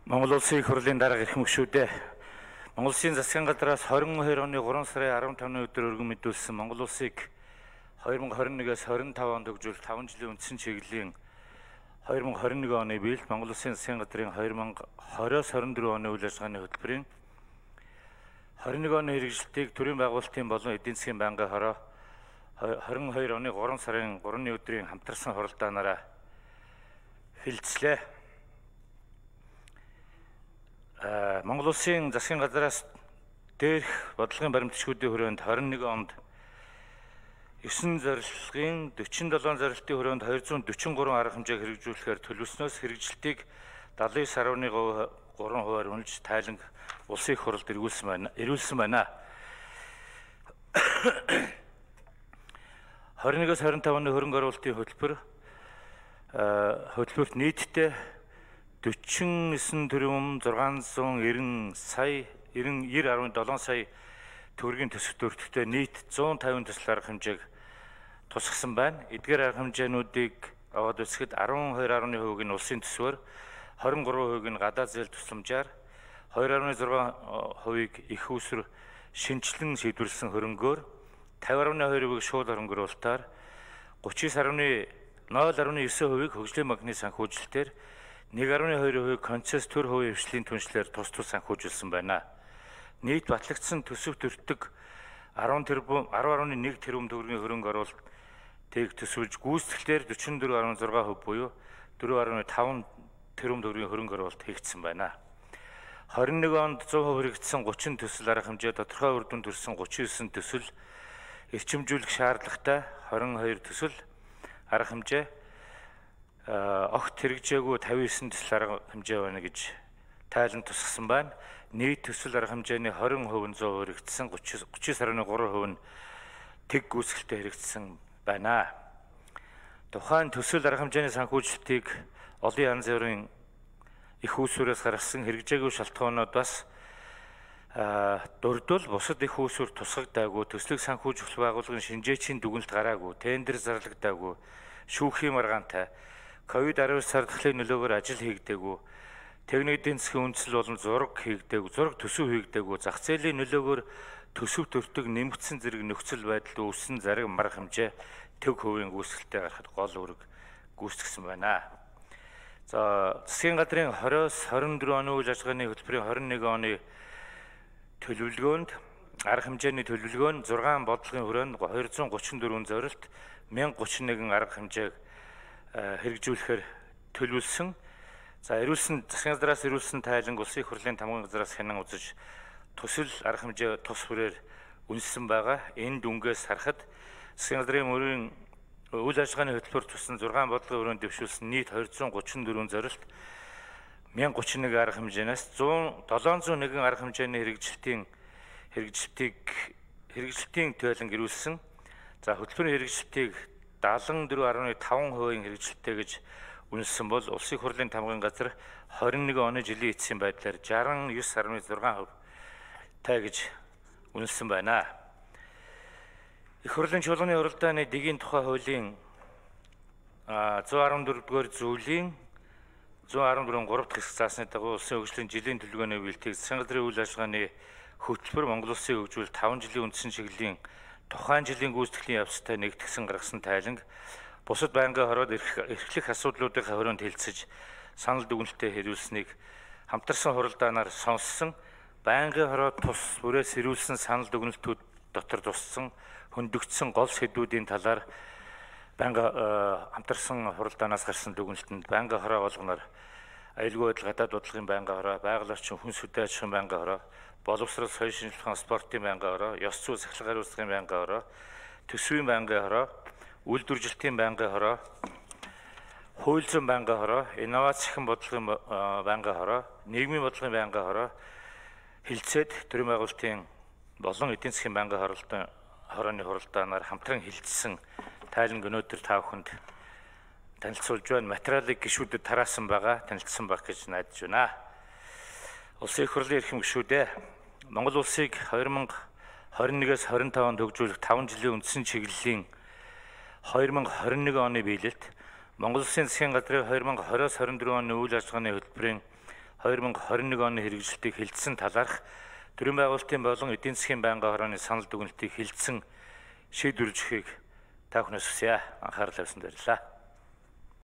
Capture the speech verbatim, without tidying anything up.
Монгол Улсын их хурлын дарга эрхэм гишүүдээ Монгол Улсын засгийн газраас двадцать двадцать оны гурван сарын15-ны өдөр өргөн мэдүүлсэн Монгол Улсыг две тысячи двадцать one-ээс twenty-five онд хөгжүүлэх five жилийн үндсэн чиглэлийн twenty twenty-one оны биелэлд Монгол Улсын засгийн газрын twenty twenty-аас twenty-four оны үйл ажиллагааны хөтөлбөрийн twenty-one оны хэрэгжилтийг төрийн байгуулалтын болон эдийн засгийн байнгын хороо twenty-two оны three сарын three-ны өдрийн хамтарсан хуралдаанаараа хилцлээ. Монгол Улсын засгийн газраас дээрх бодлогын баримтчгуудын хүрээнд twenty-one онд nine зорилгын forty-seven зорилтын хүрээнд two hundred forty-three арга хэмжээг хэрэгжүүлэхээр төлөвлөснөөс хэрэгжилтийг seventy-nine point three хувиар үнэлж тайлан улсын их хурлд эргүүлсэн байна. Эрүүлсэн байна. twenty-one-аас twenty-five оны хөрөнгө оруулалтын хөтөлбөр хөтөлбөрт нийтдээ forty-nine тэрбум six ninety сая ninety seven сая төгрөгийн төсөв төрөлтөд нийт one fifty төсөл арга хэмжээг тусгасан байна. Эдгээр арга хэмжээнүүдийг аваад үзэхэд twelve point five percent нь улсын төсвөөр, twenty-three percent нь гадаад зээл тусламжаар, two point six percent их усүр шинжилэн шийдвэрлсэн хөрөнгөөр, fifty point two percent шууд хөрөнгөруулалтаар, thirty-nine point nine percent хөгжлийн банкны санхүүжилтээр, one point two percent концесс төр хувийн хвшлийн түншлэр тус тус санхүүжүүлсэн байна. Нийт батлагдсан төсөв төртөг ten тэрбум ten point one тэрбум төгрөгийн хөрөнгө оруулалтыг төсвөлж гүйцэтгэлээр forty-four point six percent буюу four point five тэрбум төгрөгийн хөрөнгө оруулалт хийгдсэн байна. twenty-one онд one hundred хэрэгжсэн thirty төсөл арга хэмжээ тодорхой үр дүн төрсэн thirty-nine төсөл эрчимжүүлэх шаардлагатай twenty-two төсөл арга хэмжээ огт хэрэгжээгүй fifty-nine төсөл арга хэмжээ байна гэж тайлан тусгасан байна. Нийт төсөл арга хэмжээний twenty percent one hundred хэрэгжсэн thirty-three percent нь тэг гүйцэтгэлтэй хэрэгжсэн байна. Тухайн төсөл арга хэмжээний санхүүжилтийг олон янз бүрийн их усүрээс гаргасан хэрэгжээгүй шалтгаанууд бас дурдвал бусад их усүр тусгагдаагүй, төслийг санхүүжүүлэх байгууллагын шинжээчийн дүгнэлт гараагүй, тендер зарлагдаагүй, шүүхийн маргаантай, ковид nineteen сардлын нөлөөгөөр ажил хийгдээгүй, техник эдийн засгийн үндэслэл болон зураг хийгдээгүй, зураг төсөв хийгдээгүй, зах зээлийн нөлөөгөөр төсөв төртөг нэмэгдсэн зэрэг нөхцөл байдал үүссэн зарим марга хэмжээ төг хувийн гүйцэтгэлтэй гарахад гол үүрэг гүйцэтгсэн байна. За засгийн газрын twenty-аас twenty-four оны үйл ажиллагааны хөтөлбөрийн twenty-one оны төлөвлөгөөнд арга хэмжээний төлөвлөгөө нь six бодлогын хүрээнд two hundred thirty-four зорилт one thousand thirty-one арга хэмжээг хэрэгжүүлэхээр төлөвлөсөн. За эрүүлсэн засгийн газраас эрүүлсэн тайланг улсын их хурлын тамгын газраас хянан үзэж төсөл арга хэмжээ тус хүрээр үнэлсэн байгаа. Энэ дүнгээс харахад засгийн газрын мөрийн үйл ажиллагааны хөтөлбөр тусан six бодлогын хүрээнд дэвшүүлсэн нийт two hundred thirty-four зорилт one thousand thirty-one арга хэмжээнээс seven hundred one арга хэмжээний хэрэгжилтийн хэрэгжилтийг хэрэгжилтийн тайланг эрүүлсэн. За хөтөлбөрийн хэрэгжилтийг seventy-four point five percent хэрэгжилттэй гэж үнэлсэн бол улсын их хурлын тамгын газар twenty-one оны жилийн эцсийн байдлаар sixty-nine point six percent тай гэж үнэлсэн байна. Их хурлын чуулганы уралдааны дэгийн тухай хуулийн one fourteen дугаар зүйлийн one fourteen three дахь хэсэг заасны дагуу улсын хөгжлийн жилийн төлөвлөгөөний биелэлтийг засгийн газрын үйл ажиллагааны хөтөлбөр Монгол Улсын хөгжүүл five жилийн үндсэн чиглэлийн тухайн жилийн гүйцэтгэлийн явцтай нэгтгэсэн гаргасан тайланг бусад байнгын хороод эрхлэх асуудлуудын хорионд хилцэж санал дүгнэлтэд хэрүүлсэнийг хамтарсан хуралдаанаар сонссон. Байнгын хороод тус бүрээс хэрүүлсэн санал дүгнэлтүүд дотор туссан хөндөгдсөн гол сэдвүүдийн талаар байнгын хамтарсан хуралдаанаас гарсан дүгнэлтэнд байнгын хороо болгоноор аюулгүй байдал гадаад бодлогын байнгын хороо, байгаль орчин хүн сүдэн аж ахуйн байнгын хороо, боловсрол соёл шинжилгээ спортын байнгын хороо, ёс зүй сахилга хариуцлагын байнгын хороо, төсвийн байнгын хороо, үйлдвэржилтийн байнгын хороо, хууль зүйн байнгын хороо, инновац ахин бодлогын байнгын хороо, нийгмийн бодлогын байнгын хороо хилцээд төрийн байгуулалтын болон эдийн засгийн байнгын хоролтын хорооны хуралдаанаар хамтран хилцсэн тайланг өнөөдөр та бүхэнд танилцуулж байна. Материалыг гишүүдэд тараасан байгаа, танилцсан байх гэж найдаж байна. Улсын их хурлын эрхэм гишүүдээ Монгол улсыг twenty twenty-one-аас twenty-five онд хөгжүүлэх five жилийн үндсэн чиглэлийн twenty twenty-one оны биелэлд Монгол Улсын засгийн газрын twenty twenty-аас twenty-four оны үйл ажиллагааны хөтөлбөрийн хоёр мянга хорин нэг оны хэрэгжилтийг хилцсэн талаарх төрийн байгуулалтын болон эдийн засгийн байнгын хорооны санал дүгнэлтийг хилцсэн шийдвэрлэхийг та бүхнээс хүсье. Анхаарал тавьсанд баярлалаа.